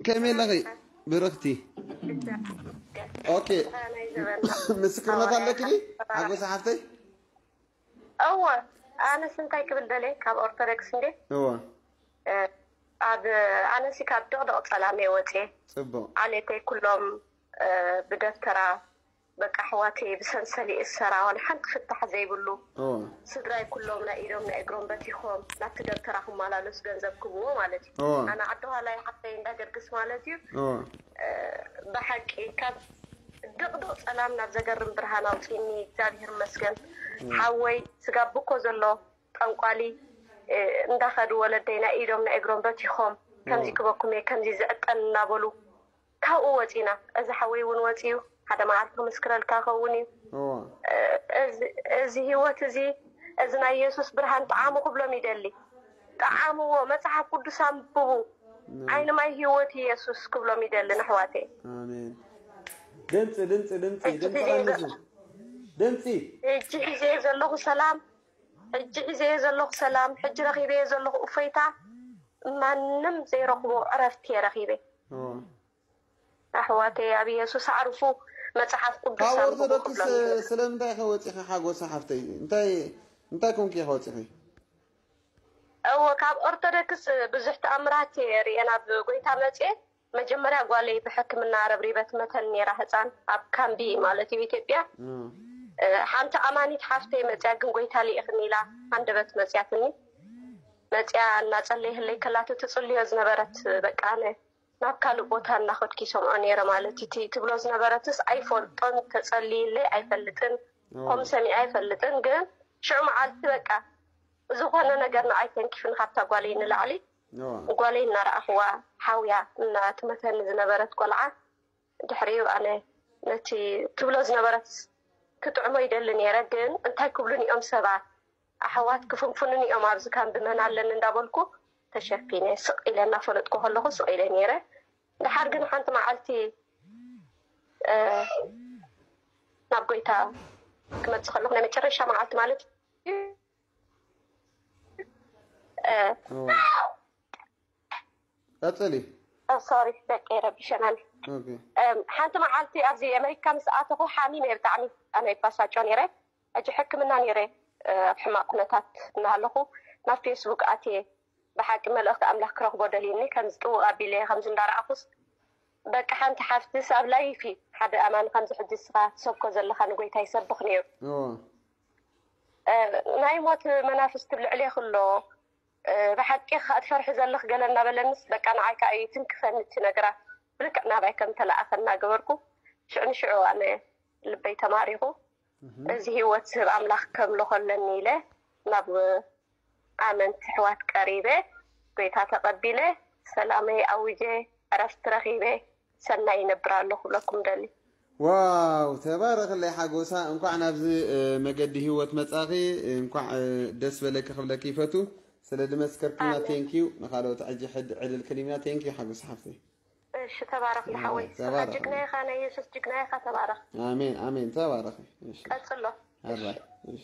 ከመይ ኣለኺ ብርኽቲ? ኦኬ፣ ምስክርነት ኣለኪ ዲ ሓጎስ ሓፍተይ? እወ፣ ኣነስ እንታይ ክብል ደልየ ካብ ኦርቶዶክስ እንዴ? እወ፣ ኣብ ኣነሲ ካብ ድቕድቕ ጸላም እየ ወፅየ። ጽቡቕ። ዓሌተይ ኩሎም ብደብተራ በቃ ኣሕዋተይ ብሰንሰል ይእሰራ፣ ዋላ ሓንቲ ፍታሕ ዘይብሉ። እወ፣ ስድራይ ኩሎም ናይ ኢዶም ናይ እግሮም በቲኾም ናብቲ ደብተራ ክመላለሱ ገንዘብ ክብዎ ማለት እዩ። እወ፣ ኣነ ዓዲ ኋላይ ሓፍተይ እንዳገርግስ ማለት እዩ። እወ፣ ብሓቂ ካብ ድቕድቕ ጸላም ናብ ዘገርም ብርሃን ኣውፅኒ እግዚኣብሔር ይመስገን። ሓወይ ስጋብ ብኮ ዘሎ ጠንቋሊ እንዳኸዱ ወለደይ ናይ ኢዶም ናይ እግሮም በቲኾም ከምዚ ክበኩም እየ ከምዚ ዝዕጠን እናበሉ ካብኡ ወፂና። እዚ ሓወይ እውን ወፂኡ ሓደ መዓልቲ ክምስክረልካ ኸውን እዩ። እወ፣ እዚ ህይወት እዚ እዚ ናይ የሱስ ብርሃን ጣዕሙ ክብሎም ይደሊ። ጣዕምዎ፣ መፅሓፍ ቅዱስ ኣንብቡ። ዓይኒ ማይ ህይወት የሱስ ክብሎም ይደሊ ንሕዋተይ። ኣሜን። ድምፂ ድምፂ ድምፂ ሕጂ ድምፂ ግዜ ቀንሱ። ድምፂ ሕጂ ሒዘዮ ዘለኹ ሰላም፣ ሕጂ ሒዘዮ ዘለኹ ሰላም፣ ሕጂ ረኺበዮ ዘለኹ እፎይታ ማንም ዘይረኽቦ ዕረፍቲ እየ ረኺበ። እወ። ኣሕዋተይ ኣብ የሱስ ኣዕርፉ። መፅሓፍ ቅዱስ ካብ ኣንብቡ ኦርቶዶክስ ክብሎም ይደሊ። ስለምንታይ ኢኺ ወፂኺ ሓጎሳ ሓፍተይ? እንታይ እንታይ ኮንኪ ኢኺ ወፂኺ? እወ፣ ካብ ኦርቶዶክስ ብዙሕ ተኣምራት እየ ርየ ናብ ጎይታ መፅየ። መጀመርያ ጓለይ ብሕክምና ረብሪበ ትመተኒ ነይራ፣ ህፃን ኣብ ካምቢ ማለት እዩ ኢትዮጵያ። እም፣ ሓንቲ ኣማኒት ሓፍተይ መፅያ ግን ጎይታ ልኢኽኒ ኢላ ሃንደበት መፅያትኒ። መፅያ እናፀለየህለይ ከላቶ ትፅልዮ ዝነበረት በቃ ኣነ ናብ ካልእ ቦታ እናኸድኩ ይሰምዖ ነይረ ማለት እቲ ትብሎ ዝነበረትስ ኣይፈልጦን፣ ተፀልይለይ ኣይፈልጥን፣ እወ፣ ከምኡ ሰሚዐ ኣይፈልጥን። ግን ሽዑ መዓልቲ በቃ ዝኾነ ነገር ንዓይ ተንኪፍኒ ካብታ ጓለይ ንላዕሊ እወ፣ ጓለይ እናረኣኽዋ ሓውያ እናትመተኒ ዝነበረት ቆልዓ ድሕሪኡ ኣነ ነቲ ትብሎ ዝነበረት ክጥዕሞ ይደሊ ነይረ። ግን እንታይ ክብሉን እዮም ሰባት ኣሕዋት ክፍንፉንን እዮም ኣብዚ ካምቢ መን ኣለኒ እንዳበልኩ ተሸፊነ ስቕ ኢለ እናፈለጥኩ ከለኹ ስቕ ኢለ ነይረ። ድሓር ግን ሓንቲ መዓልቲ ናብ ጎይታ ክመፅእ ከለኹ ናይ መጨረሻ መዓልቲ ማለት እዩ። እወ። ቀፅሊ። ሶሪ ደቂ ረቢሸናኒ። ኦኬ። ሓንቲ መዓልቲ ኣብዚ ኣሜሪካ ምስ ኣተኹ ሓሚመ ብጣዕሚ ኣነ ይባሳጮ ነይረ። ሕጂ ሕክምና ነይረ ኣብ ሕማቕ ኩነታት እናሃለኹ ናብ ፌስቡክ ኣትየ ብሓቂ መልእኽቲ ኣምላኽ ክረኽቦ ደልዩኒ ከምዚ ጥውቕ ኣቢለ ከምዚ እንዳረኣኹስ በቃ ሓንቲ ሓፍትስ ኣብ ላይፊ ሓደ ኣማን ከምዚ ሕጂ እስኻ ትሰብኮ ዘለኻ ንጎይታ ይሰብኽ ነይሩ። እወ። ናይ ሞት መናፍስቲ ኣብ ልዕሌኺ ኣሎ ብሓቂ ከኣ ትፈርሒ ዘለኺ ገለ እናበለንስ በቃ ንዓይ ከኣ እዩ ትንክፈኒ እቲ ነገራት ብልክዕ ናባይ ከም ተለኣኸ እናገበርኩ ሽዑ ንሽዑ ኣነ ልበይ ተማሪኹ እዚ ህይወት ዝህብ ኣምላኽ ከምልኾ ኣለኒ ኢለ ናብ ኣመንቲ ኣሕዋት ቀሪበ ጎይታ ተቐቢለ ሰላመይ ኣዊጀ ዕረፍቲ ረኺበ ሰናይ ይነብር ኣለኹ ክብለኩም ደሊ። ዋው ተባረኽለይ ሓጎሳ፣ እንኳዕ ናብዚ መገዲ ህይወት መጻኺ፣ እንኳዕ ደስ በለኪ ክብለኪ ይፈቱ። ስለ ድመስከርክና ቴንኪዩ። ንኻልኦት ሕጂ ሕድ ዕድል ክሊምና ቴንኪዩ ሓጎስ ሓፍተይ። እሺ ተባረኽ ዝሓወይ። ስኻ ጅግና ኢኻ፣ ናይ የሱስ ጅግና ኢኻ። ተባረኽ። ኣሜን ኣሜን። ተባረኺ። እሺ ቀጽሎ። ኣራይ እሺ